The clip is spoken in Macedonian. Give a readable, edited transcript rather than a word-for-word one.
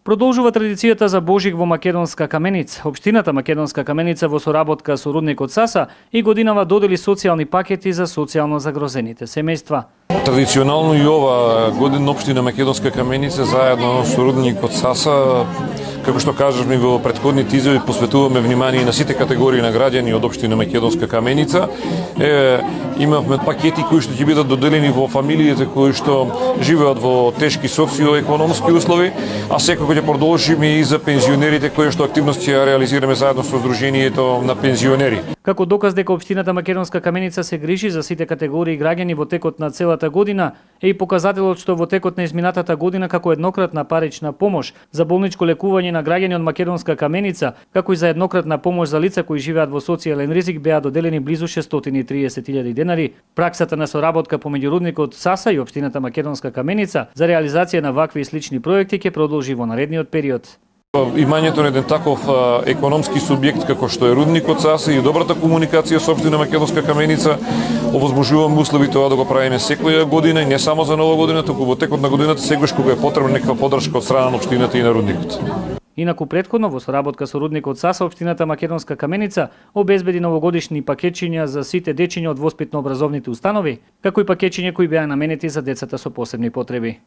Продолжува традицијата за Божик во Македонска Каменица. Општината Македонска Каменица во соработка со рудникот Саса и годинава додели социјални пакети за социјално загрозените семејства. Традиционално и ова година општина Македонска Каменица заедно со рудникот Саса, како што кажавме во претходните изјави, посветуваме внимание на сите категории на граѓани од општина Македонска Каменица. Имавме пакети кои што ќе бидат доделени во фамилиите кои што живеат во тешки социоекономски услови, а секако ќе продолжиме и за пензионерите кои што активности ја реализираме заедно со Сдруженијето на пензионери. Како доказ дека општината Македонска Каменица се грижи за сите категории граѓани во текот на целата година, е и показателот што во текот на изминатата година како еднократна парична помош за болничко лекување на граѓани од Македонска Каменица, како и за еднократна помош за лица кои живеат во социјален ризик, беа доделени близу 630.000 денари. Праксата на соработка помеѓу рудникот Саса и општината Македонска Каменица за реализација на вакви и слични проекти ќе продолжи во наредниот период. Имањето на еден таков економски субјект како што е рудникот Саса и добрата комуникација со општина Македонска Каменица овозможуваме услови тоа да го правиме секоја година и не само за нова година, туку во текот на годината секогаш кога е потребна некаква поддршка од страна на општината и на рудникот. Инаку претходно во соработка со рудникот Саса општината Македонска Каменица обезбеди новогодишни пакетчиња за сите дечиња од воспитно-образовните установи, како и пакетчиња кои беа наменети за децата со посебни потреби.